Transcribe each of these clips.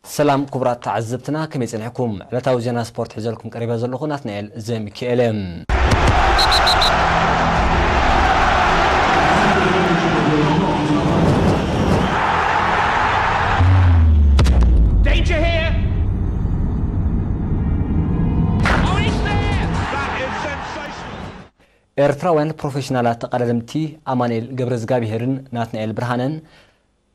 ሰላም ክቡራት ተዓዘብትና፣ ከመይ ጸኒሕኩም? ዕለታዊ ዜና ስፖርት ሒዘልኩም ቀሪበ ዘለኹ ናትናኤል ዘሚካኤል እየ። Danger here! Oh, it's there! That is sensational! ኤርትራውያን ፕሮፌሽናላት ተቐዳደምቲ ኣማኑኤል ገብረዝጋብሄርን ናትናኤል ብርሃነን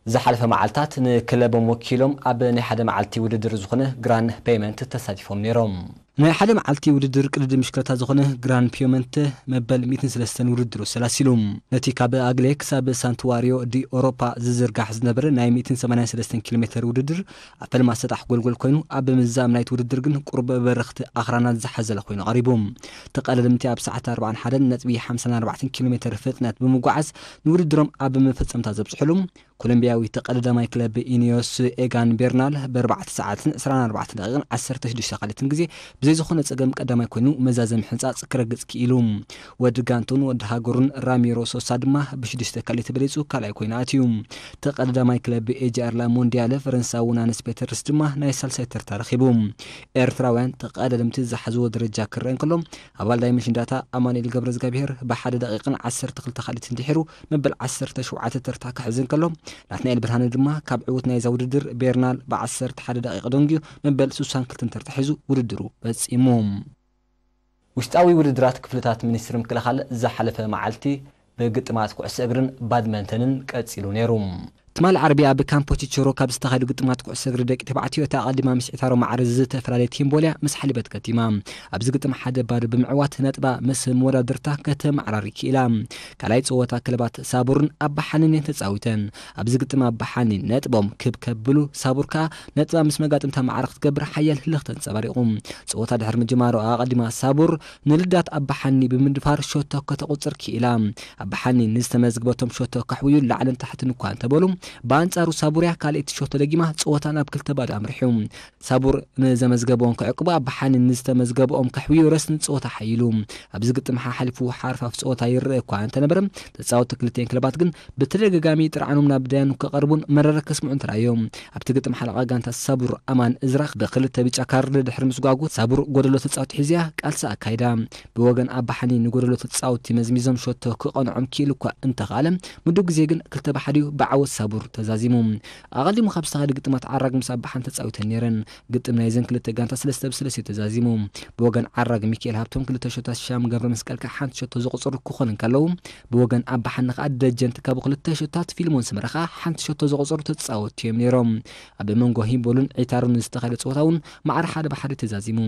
ዝሓለፈ መዓልታት ንክለቦም ወኪሎም ኣብ ናይ ሓደ መዓልቲ ውድድር ዝኾነ ግራን ፔመንት ተሳቲፎም ነይሮም። ናይ ሓደ መዓልቲ ውድድር ቅድድም ብሽክለታ ዝኾነ ግራን ፒዮመንተ መበል ሚእትን ሰለስተን ውድድሩ ሰላሲሉ። ነቲ ካብ ኣግሌ ክሳብ ሳንቱዋሪዮ ዲ ኦሮፓ ዝዝርጋሕ ዝነበረ ናይ ሚእትን ሰማንያን ሰለስተን ኪሎ ሜተር ውድድር ኣብ ፈለማ ሰጣሕ ጎልጎል ኮይኑ፣ ኣብ ምዛም ናይቲ ውድድር ግን ቁሩብ በረኽቲ ኣኽራናት ዝሓዘለ ኮይኑ ቀሪቡ። ተቐዳደምቲ ኣብ ሰዓት ኣርባዓን ሓደን ነጥቢ ሓምሳን ኣርባዕተን ኪሎ ሜተር ፍጥነት ብምጉዓዝ ንውድድሮም ኣብ መፈጸምታ ዘብጽሕሉ፣ ኮሎምቢያዊ ተቐዳዳማይ ክለብ ኢኒዮስ ኤጋን ቤርናል ብኣርባዕተ ሰዓትን ዕስራን ኣርባዕተን ደቂቕን ዓሰርተ ሽዱሽተ ካልኢትን ግዜ ብዘይ ዝኾነ ጸገም ቀዳማይ ኮይኑ መዛዘሚ ሕንጻጽ ክረግጽ ክኢሉ። ወዲ ጋንቱን ወዲ ሃገሩን ራሚሮ ሶሳ ድማ ብሽዱሽተ ካልኢት በሊጹ ካልኣይ ኮይኑ ኣትዩ። ተቐዳዳማይ ክለብ ኤጂኣር ላ ሞንዲያለ ፈረንሳዊ ናንስ ፔተርስ ድማ ናይ ሳልሳይ ተርታ ረኺቡ። ኤርትራውያን ተቐዳደምቲ ዝሓዝዎ ደረጃ ክረአ እንከሎ፣ ኣባል ዳይመንሽን ዳታ ኣማኑኤል ገብረዝጋብሄር ብሓደ ደቂቕን ዓሰርተ ክልተ ካልኢትን ድሒሩ መበል ዓሰርተ ሸውዓተ ተርታ ክሕዝ እንከሎ፣ ናትናኤል ብርሃነ ድማ ካብ ዕዉት ናይዛ ውድድር ቤርናል ብዓሰርተ ሓደ ደቂቕ ደንጊዩ መበል ስሳን ክልተን ተርታ ሒዙ ውድድሩ ፈጺሙ። ውሽጣዊ ውድድራት ክፍልታት ሚኒስትሪ ምክልኻል ዝሓለፈ መዓልቲ ብግጥማት ኩዕሶ እግርን ባድመንተንን ቀጺሉ ነይሩ። ትማሊ ዓርቢ ኣብ ካምፖ ቺቸሮ ካብ ዝተኻየዱ ግጥማት ኩዕሶ እግሪ ደቂ ተባዕትዮ፣ እታ ኣቐዲማ ምስ ዒታሮ ማዕረ ዝተፈላለየት ሂምቦልያ ምስ ሓሊበት ከቲማ። ኣብዚ ግጥም ሓደ ባዶ ብምዕዋት ነጥባ ምስ መወዳድርታ ከተመዓራሪ ክኢላ። ካልኣይ ጸወታ ክለባት ሳቡርን ኣባሓኒን እየን ተጻዊተን። ኣብዚ ግጥም ኣባሓኒ ነጥቦም ክብ ከብሉ፣ ሳቡር ከኣ ነጥባ ምስ መጋጥምታ ማዕረ ክትገብር ሓያል ህልኽ ተንጸባሪቑ። ጸወታ ድሕሪ ምጅማሩ ኣቐዲማ ሳቡር ንልዳት ኣባሓኒ ብምድፋር ሸቶ ከተቑጽር ክኢላ። ኣባሓኒ ንዝተመዝግበቶም ሸቶ ከሕውዩ ላዕልን ታሕትን እኳ እንተበሉ፣ ብኣንጻሩ ሳቡርያ ካልኣይቲ ሸቶ ደጊማ ጸወታ ናብ ክልተ ባዶ ኣምሪሑ። ሳቡር ንዘመዝገበኦም ክዕቅቡ፣ ኣባሓኒ ንዝተመዝገበኦም ከሕውዩ ረስኒ ጸወታ ሓይሉ። ኣብዚ ግጥም ሓሓሊፉ ሓርፋፍ ጸወታ ይረአ እኳ እንተነበረ፣ ተጻወትቲ ክልቲኤን ክለባት ግን ብተደጋጋሚ ጥርዓኖም ናብ ዳያኑ ክቐርቡን መረረ ከስምዑን ተራእዮም። ኣብቲ ግጥም ሓለቓ ጋንታ ሳቡር ኣማን እዝራ ብክልተ ብጫ ካርድ ድሕሪ ምስጓጉ፣ ሳቡር ጎደሎ ተጻወቲ ሒዝያ ቃልሲ ኣካይዳ። ብወገን ኣባሓኒ ንጎደሎ ተጻወቲ መዝሚዞም ሸቶ ክቐንዖም ክኢሉ እኳ እንተኸኣለ፣ ምዱብ ግዜ ግን ክልተ ብሓደ እዩ ብዓወት ሳቡር ተዛዚሙ። ኣቐዲሙ ካብ ዝተኻየደ ግጥማት ዓራግ ምስ ኣባሓኒ ተጻዊተን ነይረን። ግጥም ናይዘን ክልተ ጋንታ ሰለስተ ብሰለስተ እዩ ተዛዚሙ። ብወገን ዓራግ ሚካኤል ሃብቶም ክልተ ሸቶታት፣ ሻም ገብረ መስቀል ከኣ ሓንቲ ሸቶ ዘቑጸሩ ክኾኑ እንከለዉ፣ ብወገን ኣባሓኒ ከኣ ደጀን ትካቡ ክልተ ሸቶታት፣ ፊልሞን ሰመረ ከኣ ሓንቲ ሸቶ ዘቑጸሩ ተጻወትቲ እዮም ነይሮም። ኣብ መንጎ ሂምቦልን ዒታሮን ዝተኻየደ ጸወታ እውን ማዕረ ሓደ ብሓደ ተዛዚሙ።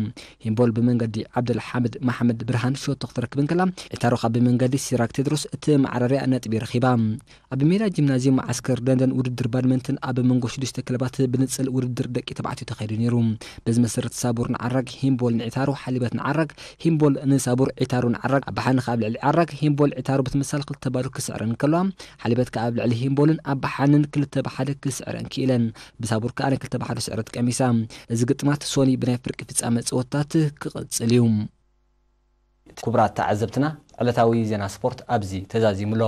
ሂምቦል ብመንገዲ ዓብደልሓምድ መሓመድ ብርሃን ሸቶ ክትረክብ እንከላ፣ ዒታሮ ከኣ ብመንገዲ ሲራክ ቴድሮስ እቲ መዓረርያ ነጥቢ ረኺባ። ኣብ ሜዳ ጂምናዝየም መዓስከር ደንደን ውድድር ባድመንትን ኣብ መንጎ ሽዱሽተ ክለባት ብንጽል ውድድር ደቂ ተባዕትዮ ተኻይዱ ነይሩ። በዚ መሰረት ሳቡር ንዓራግ፣ ሂምቦል ንዒታሮ፣ ሓሊበት ንዓራግ፣ ሂምቦል ንሳቡር፣ ዒታሮ ንዓራግ፣ ኣባሓኒ ከኣ ኣብ ልዕሊ ዓራግ፣ ሂምቦል ዒታሮ ብትምሳል ክልተ ባዶ ክስዕረን እንከለዋ፣ ሓሊበት ከኣ ኣብ ልዕሊ ሂምቦልን ኣባሓንን ክልተ ብሓደ ክስዕረን ክኢለን። ብሳቡር ከኣ ናይ ክልተ ብሓደ ስዕረት ቀሚሳ። እዚ ግጥማት ሶኒ ብናይ ፍርቂ ፍጻመ ጸወታት ክቕጽል እዩ። ክቡራት ተዓዘብትና፣ ዕለታዊ ዜና ስፖርት ኣብዚ ተዛዚሙ ኣሎ።